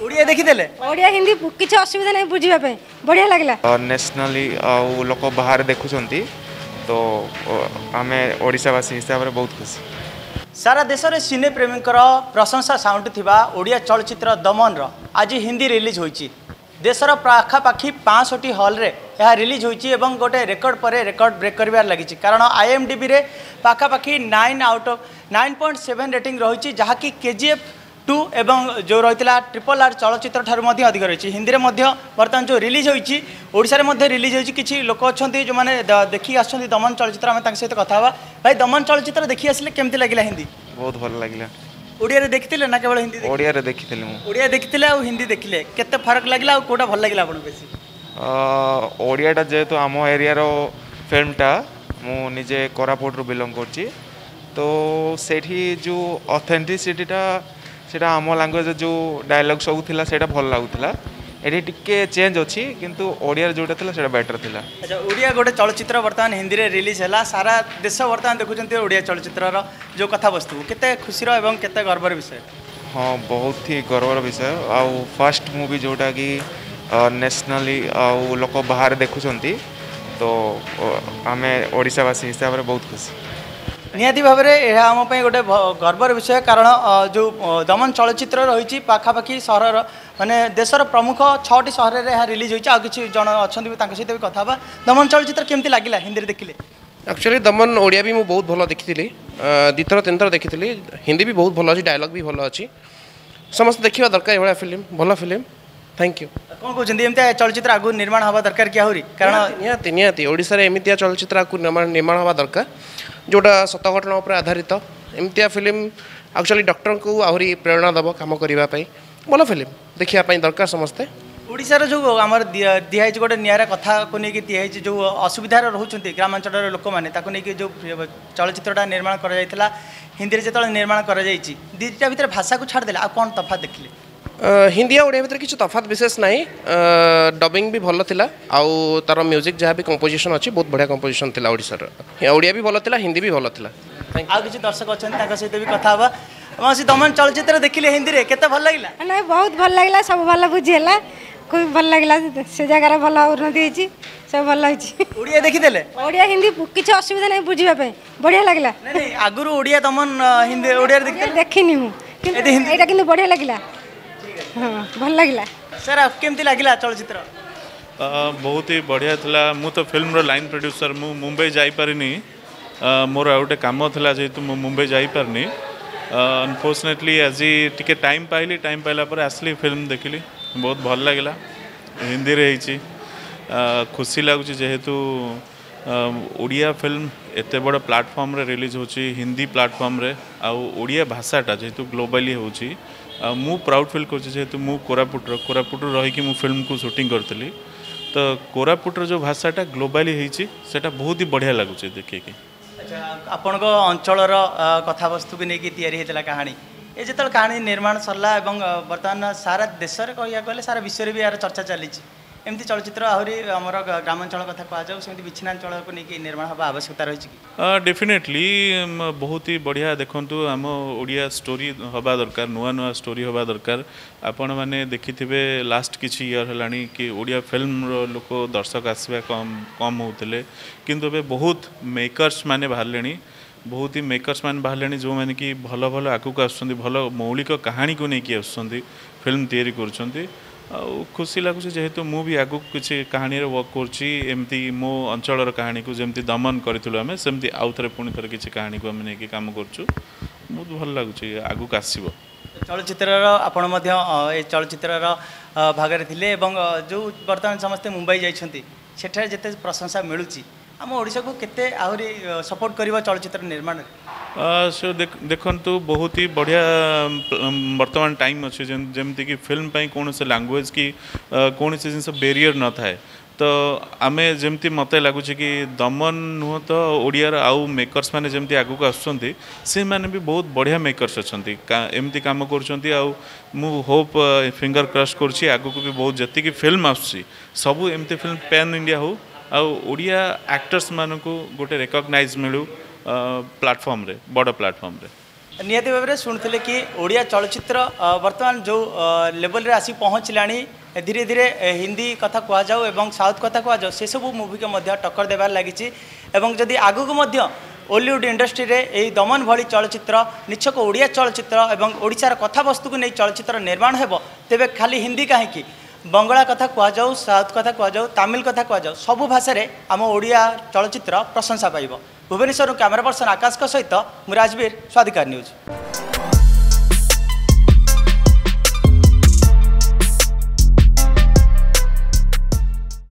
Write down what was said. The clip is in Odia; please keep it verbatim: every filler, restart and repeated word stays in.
ଓଡ଼ିଆ ଦେଖିଦେଲେ? ଓଡ଼ିଆ ହିନ୍ଦୀ କିଛି ଅସୁବିଧା ନାହିଁ ବୁଝିବା ପାଇଁ, ବଢ଼ିଆ ଲାଗିଲା। ନ୍ୟାସନାଲି ଆଉ ଲୋକ ବାହାରେ ଦେଖୁଛନ୍ତି, ତ ଆମେ ଓଡ଼ିଶାବାସୀ ହିସାବରେ ବହୁତ ଖୁସି। ସାରା ଦେଶରେ ସିନେ ପ୍ରେମୀଙ୍କର ପ୍ରଶଂସା ସାଉଣ୍ଟୁଥିବା ଓଡ଼ିଆ ଚଳଚ୍ଚିତ୍ର ଦମନର ଆଜି ହିନ୍ଦୀ ରିଲିଜ୍ ହୋଇଛି। ଦେଶର ପାଖାପାଖି ପାଞ୍ଚଷଠି ହଲ୍ରେ ଏହା ରିଲିଜ୍ ହୋଇଛି ଏବଂ ଗୋଟେ ରେକର୍ଡ଼ ପରେ ରେକର୍ଡ଼ ବ୍ରେକ୍ କରିବାରେ ଲାଗିଛି, କାରଣ ଆଇଏମ୍ଡିବିରେ ପାଖାପାଖି nine out of nine point seven rating ରହିଛି, ଯାହାକି କେଜିଏଫ୍ ଟୁ ଏବଂ ଯେଉଁ ରହିଥିଲା ଟ୍ରିପଲ୍ ଆର୍ ଚଳଚ୍ଚିତ୍ର ଠାରୁ ମଧ୍ୟ ଅଧିକ ରହିଛି। ହିନ୍ଦୀରେ ମଧ୍ୟ ବର୍ତ୍ତମାନ ଯେଉଁ ରିଲିଜ୍ ହୋଇଛି, ଓଡ଼ିଶାରେ ମଧ୍ୟ ରିଲିଜ୍ ହୋଇଛି। କିଛି ଲୋକ ଅଛନ୍ତି ଯେଉଁମାନେ ଦେଖିକି ଆସୁଛନ୍ତି ଦମନ ଚଳଚ୍ଚିତ୍ର, ଆମେ ତାଙ୍କ ସହିତ କଥା ହେବା। ଭାଇ, ଦମନ ଚଳଚ୍ଚିତ୍ର ଦେଖି ଆସିଲେ, କେମିତି ଲାଗିଲା ହିନ୍ଦୀ? ବହୁତ ଭଲ ଲାଗିଲା। ଓଡ଼ିଆରେ ଦେଖିଥିଲେ ନା କେବଳ ହିନ୍ଦୀ? ଓଡ଼ିଆରେ ଦେଖିଥିଲି ମୁଁ। ଓଡ଼ିଆ ଦେଖିଥିଲେ ଆଉ ହିନ୍ଦୀ ଦେଖିଲେ, କେତେ ଫରକ ଲାଗିଲା ଆଉ କେଉଁଟା ଭଲ ଲାଗିଲା ଆପଣଙ୍କୁ ବେଶୀ? ଓଡ଼ିଆଟା ଯେହେତୁ ଆମ ଏରିଆର ଫିଲ୍ମଟା, ମୁଁ ନିଜେ କୋରାପୁଟରୁ ବିଲଙ୍ଗ କରୁଛି, ତ ସେଇଠି ଯେଉଁ ଅଥେଣ୍ଟିସିଟିଟା, ସେଇଟା ଆମ ଲାଙ୍ଗୁଏଜ୍ ଯେଉଁ ଡାଇଲଗ୍ ସବୁ ଥିଲା, ସେଇଟା ଭଲ ଲାଗୁଥିଲା। ଏଠି ଟିକେ ଚେଞ୍ଜ ଅଛି, କିନ୍ତୁ ଓଡ଼ିଆରେ ଯେଉଁଟା ଥିଲା ସେଇଟା ବେଟର୍ ଥିଲା। ଆଚ୍ଛା, ଓଡ଼ିଆ ଗୋଟେ ଚଳଚ୍ଚିତ୍ର ବର୍ତ୍ତମାନ ହିନ୍ଦୀରେ ରିଲିଜ୍ ହେଲା, ସାରା ଦେଶ ବର୍ତ୍ତମାନ ଦେଖୁଛନ୍ତି ଓଡ଼ିଆ ଚଳଚ୍ଚିତ୍ରର ଯେଉଁ କଥାବସ୍ତୁ, କେତେ ଖୁସିର ଏବଂ କେତେ ଗର୍ବର ବିଷୟ? ହଁ, ବହୁତ ହି ଗର୍ବର ବିଷୟ। ଆଉ ଫାର୍ଷ୍ଟ ମୁଭି ଯେଉଁଟାକି ନ୍ୟାସନାଲି ଆଉ ଲୋକ ବାହାରେ ଦେଖୁଛନ୍ତି, ତ ଆମେ ଓଡ଼ିଶାବାସୀ ହିସାବରେ ବହୁତ ଖୁସି। ନିହାତି ଭାବରେ ଏହା ଆମ ପାଇଁ ଗୋଟେ ଗର୍ବର ବିଷୟ, କାରଣ ଯେଉଁ ଦମନ ଚଳଚ୍ଚିତ୍ର ରହିଛି, ପାଖାପାଖି ସହରର ମାନେ ଦେଶର ପ୍ରମୁଖ ଛଅଟି ସହରରେ ଏହା ରିଲିଜ୍ ହୋଇଛି। ଆଉ କିଛି ଜଣ ଅଛନ୍ତି, ତାଙ୍କ ସହିତ ବି କଥା ହେବା। ଦମନ ଚଳଚ୍ଚିତ୍ର କେମିତି ଲାଗିଲା ହିନ୍ଦୀରେ ଦେଖିଲେ? ଆକ୍ଚୁଆଲି ଦମନ ଓଡ଼ିଆ ବି ମୁଁ ବହୁତ ଭଲ ଦେଖିଥିଲି, ଦୁଇଥର ତିନିଥର ଦେଖିଥିଲି। ହିନ୍ଦୀ ବି ବହୁତ ଭଲ ଅଛି, ଡାଇଲଗ୍ ବି ଭଲ ଅଛି। ସମସ୍ତେ ଦେଖିବା ଦରକାର ଏଭଳିଆ ଫିଲ୍ମ, ଭଲ ଫିଲ୍ମ। Thank you. କ'ଣ କହୁଛନ୍ତି, ଏମିତି ଚଳଚ୍ଚିତ୍ର ଆଗକୁ ନିର୍ମାଣ ହେବା ଦରକାର କି ଆହୁରି? କାରଣ ନିହାତି ନିହାତି ଓଡ଼ିଶାରେ ଏମିତିଆ ଚଳଚ୍ଚିତ୍ର ଆଗକୁ ନିର୍ମାଣ ହେବା ଦରକାର, ଯେଉଁଟା ସତ ଘଟଣା ଉପରେ ଆଧାରିତ। ଏମିତିଆ ଫିଲ୍ମ ଆକ୍ଚୁଆଲି ଡକ୍ଟରଙ୍କୁ ଆହୁରି ପ୍ରେରଣା ଦେବ କାମ କରିବା ପାଇଁ। ଭଲ ଫିଲ୍ମ, ଦେଖିବା ପାଇଁ ଦରକାର ସମସ୍ତେ। ଓଡ଼ିଶାର ଯେଉଁ ଆମର ଦିଆହେଇଛି ଗୋଟେ ନିଆରା କଥାକୁ ନେଇକି ଦିଆହେଇଛି, ଯେଉଁ ଅସୁବିଧାରେ ରହୁଛନ୍ତି ଗ୍ରାମାଞ୍ଚଳର ଲୋକମାନେ, ତାକୁ ନେଇକି ଯେଉଁ ଚଳଚ୍ଚିତ୍ରଟା ନିର୍ମାଣ କରାଯାଇଥିଲା, ହିନ୍ଦୀରେ ଯେତେବେଳେ ନିର୍ମାଣ କରାଯାଇଛି, ଦୁଇଟା ଭିତରେ ଭାଷାକୁ ଛାଡ଼ିଦେଲେ ଆଉ କ'ଣ ତଫାତ୍ ଦେଖିଲେ? ହିନ୍ଦୀ ଆଉ ଓଡ଼ିଆ ଭିତରେ କିଛି ତଫାତ୍ ବିଶେଷ ନାହିଁ। ଡବିଂ ବି ଭଲ ଥିଲା, ଆଉ ତାର ମ୍ୟୁଜିକ୍ ଯାହା ବି କମ୍ପୋଜିସନ୍ ଅଛି, ବହୁତ ବଢ଼ିଆ କମ୍ପୋଜିସନ୍ ଥିଲା। ଓଡ଼ିଶାର ଓଡ଼ିଆ ବି ଭଲ ଥିଲା, ହିନ୍ଦୀ ବି ଭଲ ଥିଲା। ଆଉ କିଛି ଦର୍ଶକ ଅଛନ୍ତି, ତାଙ୍କ ସହିତ ବି କଥା ହେବା। ମାଉସୀ, ଦମନ ଚଳଚ୍ଚିତ୍ର ଦେଖିଲେ ହିନ୍ଦୀରେ, କେତେ ଭଲ ଲାଗିଲା? ନାଇଁ, ବହୁତ ଭଲ ଲାଗିଲା, ସବୁ ଭଲ ବୁଝି ହେଲା, ଖୁବ୍ ଭଲ ଲାଗିଲା। ସେ ଜାଗାରେ ଭଲ ଉନ୍ନତି ହେଇଛି, ସବୁ ଭଲ ହେଇଛି। ଓଡ଼ିଆ ଦେଖିଦେଲେ? ଓଡ଼ିଆ ହିନ୍ଦୀ କିଛି ଅସୁବିଧା ନାହିଁ ବୁଝିବା ପାଇଁ, ବଢ଼ିଆ ଲାଗିଲା। ନାଇଁ, ଆଗରୁ ଓଡ଼ିଆ ଦମନ ହିନ୍ଦୀ ଓଡ଼ିଆରେ ଦେଖିଥିଲେ? ଦେଖିନି ମୁଁ, କିନ୍ତୁ ଏଇଟା କିନ୍ତୁ ବଢ଼ିଆ ଲାଗିଲା। ହଁ, ଭଲ ଲାଗିଲା। ସାର୍, କେମିତି ଲାଗିଲା ଚଳଚ୍ଚିତ୍ର? ବହୁତ ହି ବଢ଼ିଆ ଥିଲା। ମୁଁ ତ ଫିଲ୍ମର ଲାଇନ୍ ପ୍ରଡ୍ୟୁସର, ମୁଁ ମୁମ୍ବାଇ ଯାଇପାରିନି, ମୋର ଆଉ ଗୋଟେ କାମ ଥିଲା, ଯେହେତୁ ମୁଁ ମୁମ୍ବାଇ ଯାଇପାରିନି। ଅନଫର୍ଚୁନେଟଲି ଆଜି ଟିକେ ଟାଇମ୍ ପାଇଲି, ଟାଇମ୍ ପାଇଲା ପରେ ଆସିଲି, ଫିଲ୍ମ ଦେଖିଲି, ବହୁତ ଭଲ ଲାଗିଲା। ହିନ୍ଦୀରେ ହେଇଛି, ଖୁସି ଲାଗୁଛି, ଯେହେତୁ ଓଡ଼ିଆ ଫିଲ୍ମ ଏତେ ବଡ଼ ପ୍ଲାଟଫର୍ମରେ ରିଲିଜ୍ ହେଉଛି, ହିନ୍ଦୀ ପ୍ଲାଟଫର୍ମରେ, ଆଉ ଓଡ଼ିଆ ଭାଷାଟା ଯେହେତୁ ଗ୍ଲୋବାଲି ହେଉଛି। ଆଉ ମୁଁ ପ୍ରାଉଡ଼ ଫିଲ୍ କରୁଛି, ଯେହେତୁ ମୁଁ କୋରାପୁଟର, କୋରାପୁଟରୁ ରହିକି ମୁଁ ଫିଲ୍ମକୁ ସୁଟିଂ କରିଥିଲି, ତ କୋରାପୁଟର ଯେଉଁ ଭାଷାଟା ଗ୍ଲୋବାଲି ହେଇଛି, ସେଇଟା ବହୁତ ହି ବଢ଼ିଆ ଲାଗୁଛି ଦେଖିକି। ଆଚ୍ଛା, ଆପଣଙ୍କ ଅଞ୍ଚଳର କଥାବସ୍ତୁକୁ ନେଇକି ତିଆରି ହେଇଥିଲା କାହାଣୀ। ଏ ଯେତେବେଳେ କାହାଣୀ ନିର୍ମାଣ ସରିଲା ଏବଂ ବର୍ତ୍ତମାନ ସାରା ଦେଶରେ କହିବାକୁ ଗଲେ ସାରା ବିଶ୍ୱରେ ବି ଏହାର ଚର୍ଚ୍ଚା ଚାଲିଛି, ଏମିତି ଚଳଚ୍ଚିତ୍ର ଆହୁରି ଆମର ଗ୍ରାମାଞ୍ଚଳ କଥା କୁହାଯାଉ, ସେମିତି ବିଚ୍ଛିନ୍ନାଞ୍ଚଳକୁ ନେଇକି ନିର୍ମାଣ ହେବା ଆବଶ୍ୟକତା ରହିଛି କି? ଡେଫିନେଟଲି, ବହୁତ ହି ବଢ଼ିଆ। ଦେଖନ୍ତୁ, ଆମ ଓଡ଼ିଆ ଷ୍ଟୋରି ହେବା ଦରକାର, ନୂଆ ନୂଆ ଷ୍ଟୋରି ହେବା ଦରକାର। ଆପଣମାନେ ଦେଖିଥିବେ ଲାଷ୍ଟ କିଛି ଇୟର୍ ହେଲାଣି କି ଓଡ଼ିଆ ଫିଲ୍ମର ଲୋକ ଦର୍ଶକ ଆସିବା କମ୍ କମ୍ ହେଉଥିଲେ, କିନ୍ତୁ ଏବେ ବହୁତ ମେକର୍ସ ମାନେ ବାହାରିଲେଣି, ବହୁତ ହି ମେକର୍ସ ମାନେ ବାହାରିଲେଣି, ଯେଉଁମାନେ କି ଭଲ ଭଲ ଆଗକୁ ଆସୁଛନ୍ତି, ଭଲ ମୌଳିକ କାହାଣୀକୁ ନେଇକି ଆସୁଛନ୍ତି, ଫିଲ୍ମ ତିଆରି କରୁଛନ୍ତି। ଆଉ ଖୁସି ଲାଗୁଛି, ଯେହେତୁ ମୁଁ ବି ଆଗକୁ କିଛି କାହାଣୀରେ ୱାର୍କ କରୁଛି, ଏମିତି ମୋ ଅଞ୍ଚଳର କାହାଣୀକୁ ଯେମିତି ଦମନ କରିଥିଲୁ ଆମେ, ସେମିତି ଆଉ ଥରେ ପୁଣି ଥରେ କିଛି କାହାଣୀକୁ ଆମେ ନେଇକି କାମ କରୁଛୁ। ବହୁତ ଭଲ ଲାଗୁଛି, ଆଗକୁ ଆସିବ। ଚଳଚ୍ଚିତ୍ରର ଆପଣ ମଧ୍ୟ ଏ ଚଳଚ୍ଚିତ୍ରର ଭାଗରେ ଥିଲେ, ଏବଂ ଯେଉଁ ବର୍ତ୍ତମାନ ସମସ୍ତେ ମୁମ୍ବାଇ ଯାଇଛନ୍ତି, ସେଠାରେ ଯେତେ ପ୍ରଶଂସା ମିଳୁଛି, ଆମ ଓଡ଼ିଶାକୁ କେତେ ଆହୁରି ସପୋର୍ଟ କରିବ ଚଳଚ୍ଚିତ୍ର ନିର୍ମାଣରେ? ସୋ ଦେଖନ୍ତୁ, ବହୁତ ହି ବଢ଼ିଆ ବର୍ତ୍ତମାନ ଟାଇମ୍ ଅଛି, ଯେମିତିକି ଫିଲ୍ମ ପାଇଁ କୌଣସି ଲାଙ୍ଗୁଏଜ୍ କି କୌଣସି ଜିନିଷ ବେରିୟର ନଥାଏ। ତ ଆମେ ଯେମିତି ମୋତେ ଲାଗୁଛି କି ଦମନ ନୁହଁ ତ ଓଡ଼ିଆର ଆଉ ମେକର୍ସ ମାନେ ଯେମିତି ଆଗକୁ ଆସୁଛନ୍ତି, ସେମାନେ ବି ବହୁତ ବଢ଼ିଆ ମେକର୍ସ ଅଛନ୍ତି, ଏମିତି କାମ କରୁଛନ୍ତି। ଆଉ ମୁଁ ହୋପ୍, ଫିଙ୍ଗର କ୍ରସ୍ କରୁଛି, ଆଗକୁ ବି ବହୁତ ଯେତିକି ଫିଲ୍ମ ଆସୁଛି ସବୁ ଏମିତି ଫିଲ୍ମ ପ୍ୟାନ୍ ଇଣ୍ଡିଆ ହଉ, ଆଉ ଓଡ଼ିଆ ଆକ୍ଟର୍ସ ମାନଙ୍କୁ ଗୋଟେ ରେକଗ୍ନାଇଜ୍ ମିଳୁ ପ୍ଲାଟଫର୍ମରେ, ବଡ଼ ପ୍ଲାଟଫର୍ମରେ। ନିହାତି ଭାବରେ ଶୁଣୁଥିଲେ କି ଓଡ଼ିଆ ଚଳଚ୍ଚିତ୍ର ଅ, ବର୍ତ୍ତମାନ ଯେଉଁ ଲେଭେଲରେ ଆସି ପହଞ୍ଚିଲାଣି, ଧୀରେ ଧୀରେ ଏ, ହିନ୍ଦୀ କଥା କୁହାଯାଉ ଏବଂ ସାଉଥ କଥା କୁହାଯାଉ, ସେସବୁ ମୁଭିକୁ ମଧ୍ୟ ଟକ୍କର ଦେବାରେ ଲାଗିଛି। ଏବଂ ଯଦି ଆଗକୁ ମଧ୍ୟ ଓଲିଉଡ଼ ଇଣ୍ଡଷ୍ଟ୍ରିରେ ଏହି ଦମନ ଭଳି ଚଳଚ୍ଚିତ୍ର, ନିଛକ ଓଡ଼ିଆ ଚଳଚ୍ଚିତ୍ର ଏବଂ ଓଡ଼ିଶାର କଥାବସ୍ତୁକୁ ନେଇ ଚଳଚ୍ଚିତ୍ର ନିର୍ମାଣ ହେବ, ତେବେ ଖାଲି ହିନ୍ଦୀ କାହିଁକି, ବଙ୍ଗଳା କଥା କୁହାଯାଉ, ସାଉଥ କଥା କୁହାଯାଉ, ତାମିଲ କଥା କୁହାଯାଉ, ସବୁ ଭାଷାରେ ଆମ ଓଡ଼ିଆ ଚଳଚ୍ଚିତ୍ର ପ୍ରଶଂସା ପାଇବ। ଭୁବନେଶ୍ୱରରୁ କ୍ୟାମେରା ପର୍ସନ ଆକାଶଙ୍କ ସହିତ ମୁଁ ରାଜବୀର, ସ୍ୱାଧିକାର ନ୍ୟୁଜ୍।